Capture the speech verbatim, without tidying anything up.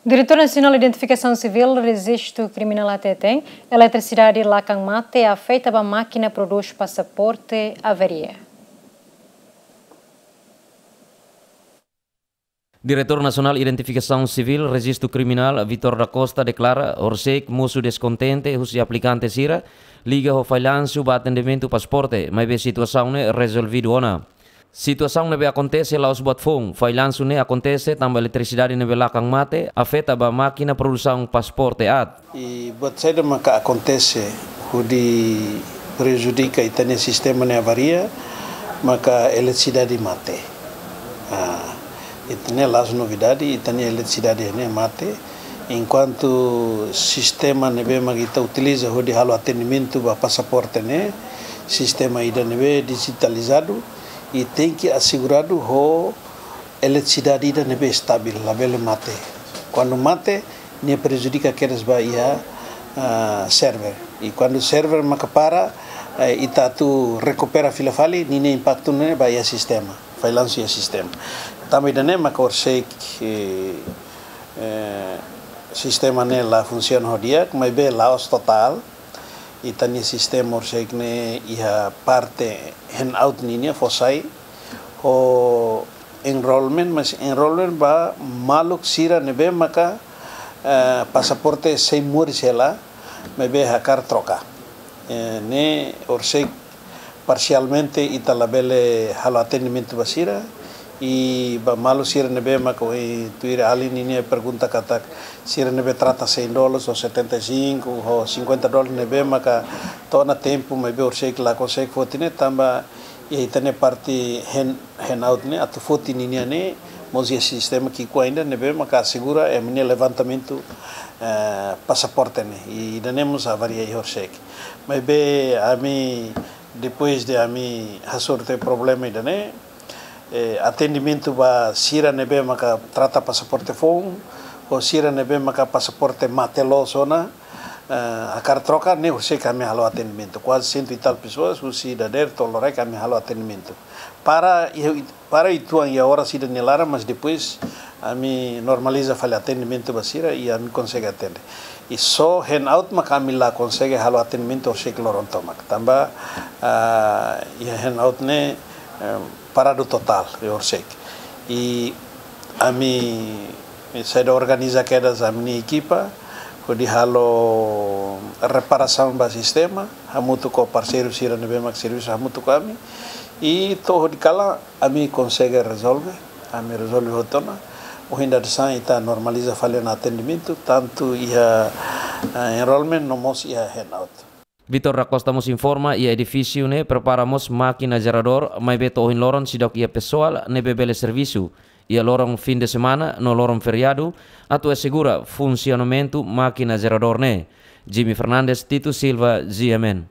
Diretór Nasionál Identifikasaun Sivíl Rejistu Kriminál hateten, eletrisidade lakang mate afeta ba mákina prodús pasaporte avaria. Diretór Nasionál Identifikasaun Sivíl Rejistu Kriminál, Vitor da Costa, deklara horisehik mosu deskontente husi aplikante sira liga ho fallansu ba atendimentu pasaporte, maibé situasaun ne'e rezolvidu ona. Situasaun ne'ebé akontese la'ós buat foun, fallansu ne'e akontese tanba eletrisidade ne'ebé lakang mate afeta ba mákina produsaun pasaporte aat. I buat saida maka akontese hodi prejudika ita-nia sistema ne'e avaria, maka eletrisidade mate. Ah, ita-nia la'ós novidade, ita-nia eletrisidade ne'e mate. Enkuantu sistema ne'ebé maka ita utiliza hodi halo atendimentu ba pasaporte ne'e, sistema ida ne'ebé dijitalizadu, i tenke aseguradu ho eletrisidade ida ne'ebé estavel, labele mate. Kuandu mate, nia prejudika kedas ba iha, ah, server. I kuandu server maka para, eh, ita atu rekupera fila fali, ninia impaktu ne'e ba iha sistema, fallansu iha sistema. Tanba ida-ne'e maka horisehik, eh, eh, sistema ne'e la funsiona ho di'ak, maibé la'ós totál. Ita-nia sistema horisehik ne'e iha parte handout ninia fó sai ho enrollment, mas enrollment ba maluk sira ne'ebé maka, eh, pasaporte sei moris hela, maibé hakarak troka. Eh, ne'e horisehik parsialmente ita labele halo atendimentu ba sira, i ba maluk sira ne'ebé maka ohin tuir alin ninia pergunta katak sira ne'ebé trata cem dólares ou setenta e cinco ou cinquenta dólares ne'ebé maka to'o ona tempu maibé horisehik la konsege foti ne'e tanba iha ita-nia parte hand, handout ne'e atu foti ninia ne'e mós iha sistema ki'ikoan ida ne'ebé maka asegura ema nia levantamentu, eh, pasaporte ne'e. I ida-ne'e mós avaria iha horisehik. Maibé ami, depois de ami hasoru tiha problema ida-ne'e, eh, atendimentu ba sira ne'ebé maka trata pasaporte foun, ou sira ne'ebé maka pasaporte mate loos ona, eh, hakarak troka, ne'e horisehik ami halo atendimentu. Kuaze cento e tal pessoas, husi dadeer to'o loraik ami halo atendimentu. Para, para uitoan iha oras ida nia laran, mas depois ami normaliza fali atendimentu ba sira i ami konsege atende. I só handout maka ami la konsege halo atendimentu horisehik loron tomak. Tanba, ah, iha handout ne'e, eh, paradu totál iha horisehik. I ami, eh, sei organiza kedas ami-nia ekipa hodi halo reparasaun ba sistema, hamutuk ho parseiru sira ne'ebé mak servisu hamutuk ho ami. I to'o hodi kalan ami konsege rezolve, ami rezolve hotu ona. Ohin dadeer-saan ita normaliza fali ona atendimentu, tantu iha, eh, enrollment no mós iha handout. Vitor da Costa mós informa, iha edifísiu ne'e prepara mós mákina jeradór, maibé to'o ohin loron seidauk iha pesoál ne'ebé bele servisu iha loron fin de semana no loron feriadu atu asegura funsionamentu mákina jeradór ne'e. Jimmy Fernandes, Tito Silva, G M N.